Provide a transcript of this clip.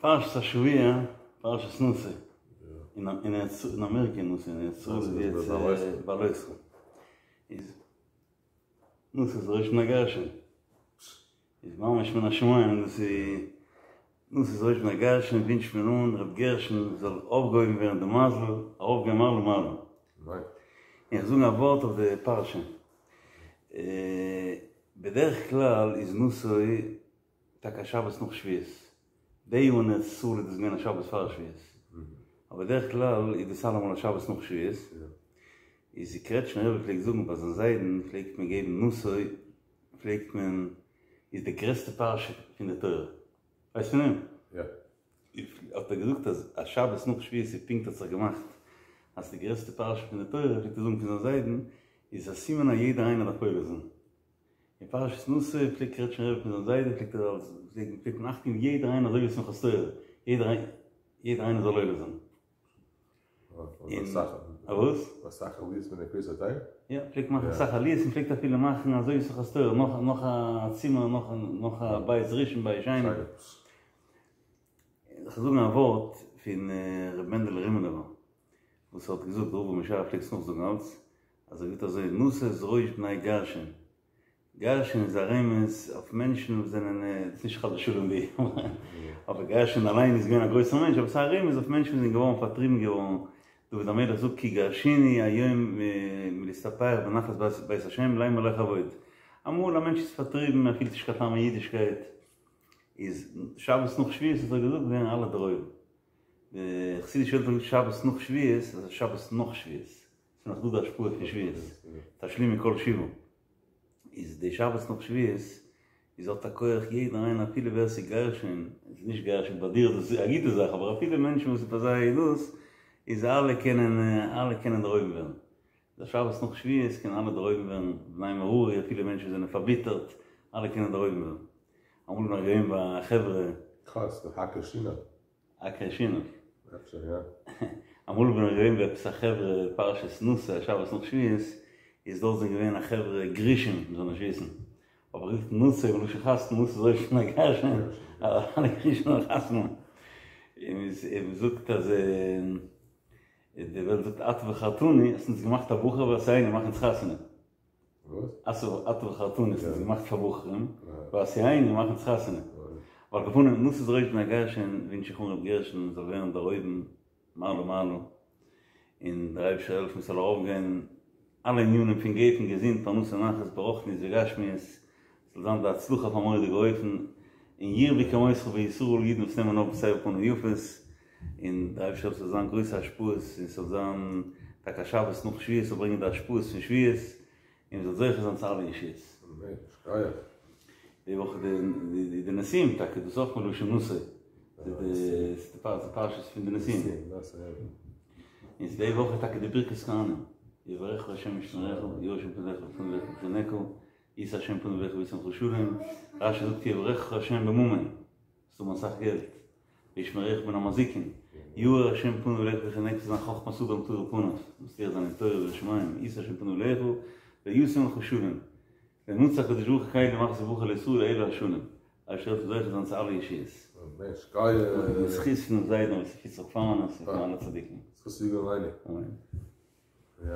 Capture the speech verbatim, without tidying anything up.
פרשת השבוע, פרשת נשא, אין אמעריקע נשא, אין ארץ ישראל איז יעצט בהעלותך. איז נשא איז ראש בני גרשון. איז ממש מן השמים דאס איז נשא איז ראש בני גרשון ווינטשט מען אן ר' גרשון זאל אויפגעהויבן ווערן די מזל ארויפגיין מעלה מעלה. און איך זאגן א ווארט אויף די פרשה. בדרך כלל איז נשא טאקע א שבת נאך שבועות, די יאר אין ארץ ישראל איז דאס געווען א שבת פאר שבועות, אבער בדרך כלל איז דאס אלעמאל א שבת נאך שבועות, איז די קרעטשמער רבי פלעגט זאגן ביי זיין זיידן פלעגט מען געבן נשא פלעגט מען איז די גרעסטע פרשה פון די תורה, ווייסט פון דעם? יא. האט ער געזאגט אז א שבת נאך שבועות איז פונקט האט זיך געמאכט אז די גרעסטע פרשה פון די תורה פלעגט ער זאגן פון זיין זיידן איז א סימן אז יעדער איינער דארף עולה זיין. אין פרשת נשא פלעגט קרעטשמער רבי פון זיין זיידן פלעגט ער אלס פלעגט מען אכט געבן יעדער איינער אזוי ווי שמחת תורה יעדער יעדער איינער זאל עולה זיין. און א וואס? אסאך עליות מיט די קריאת התורה? יא, פלעגט מאכן אסאך עליות און פלעגט אפילו מאכן אזוי ווי שמחת תורה נאך נאך א צימער נאך נאך א בית ראשון בית שני. איך זאגן א ווארט פון ר' מענדעלע רימינובער וואס האט געזאגט ר' אברהם ישעי' פלעגט עס נאכזאגן אלץ אז ער זאגט אזוי נשא את ראש בני גרשון, גרשון איז א רמז אויף מענטשן וואס זענען, ס'איז נישט חס ושלום די, אבער גרשון אליין איז געווען א גרויסער מענטש, אבער ס'איז א רמז אויף מענטשן וואס זענען געווארן פארטריבן געווארן, דוד המלך זאגט כי גרשוני היום מלהסתפח בנחלת בית השם לאמר לך אבוד, אמאל א מענטש איז פארטריבן ער פילט נישט קיין טעם אין אידישקייט, איז שבת נאך שבועות האט ער געזאגט ווערן אלע דערהויבן, די חסידישע וועלט האט געזאגט שבת נאך שבועות, אז שבת נאך שבועות. ס'איז נאך דא די השפעה פון שבועות, תשלימי כל שבעה, איז די שבת נאך שבועות איז האט א כח יעדער איינער אפילו ווער ס'איז גרשון, איז נישט גרשון ביי דיר איז דאס א גוטע זאך, אבער אפילו מענטשן וואס איז ביי זיי דאס, איז אלע קענען אלע קענען דערהויבן ווערן, די שבת נאך שבועות קענען אלע דערהויבן ווערן, בני מררי אפילו מענטשן וואס זענען פארביטערט, אלע קענען דערהויבן ווערן. אמאל בין איך געווען ביי א חברה. קאסט, די האקער שינא. עקר שינה. אפשר יא. אמאל בין איך געווען ביי עפעס א חברה פרשת נשא שבת נאך שבועות, איז דארט זענען געווען א חברה גרושים מ'זאל נישט וויסן, האב איך געזאגט נשא מלשון חתונה נשא את ראש בני גרשון, אלע גרושים זאלן חתונה האבן. און מ'זאגט אז די וועלט זאגט אתה בחרתנו, האסט אונז געמאכט א בחור ועשאנו מאך אונז חתונה. אתה בחרתנו האסט אונז געמאכט פאר בחורים, ועשאנו מאך אונז חתונה. אבער על כל פנים, נשא את ראש בני גרשון, ווינטש איך אן ר' גרשון זאל ווערן דערהויבן מעלה מעלה, און דער אייבערשטער זאל העלפן ס'זאל ארויפגיין אלע ענינים פון גפן, געזונט, פרנסה, נחת, ברוחניות וגשמיות, ס'זאל זיין די הצלחה אויף א מורא'דיגע אופן, און ירבו כמותך בישראל אידן וואס נעמען אויף בסבר פנים יפות, און דער אייבערשטער זאל זיין גרויסע השפעות און ס'זאל זיין טאקע א שבת נאך שבועות זאל ברענגען די השפעות פון שבועות און מ'זאל זוכה זיין צו אלע ישועות. אמן, שכוח. די וואך איז די נשיאים טאקע, דאס איז אויך מלשון נשא, די פרשת פון די נשיאים. און די וואך איז טאקע די ברכת כהנים, יברכך ה' וישמרך, יאר ה' פניו אליך ויחנך, ישא ה' פניו אליך וישם לך שלום, רשי זאגט יברכך ה' בממון, זאלסט האבן אסאך געלט, וישמרך מן המזיקין, יאר ה' פניו אליך ויחנך זיין חכמת אדם תאיר פניו, מצליח זיין אין תורה ויראת שמים, ישא ה' פניו אליך וישם לך שלום, לא מצא הקדוש ברוך הוא קל ומכניס ברכה לישראל אלא השלום, אייבערשטער זאל זוכה זיין צו אלע ישועות. אמן, שכוח. אין זכות פונעם זיידן ר' יוסף יצחק פארנעס און פון אלע צדיקים. זכות יגן עלינו. אמן. יא.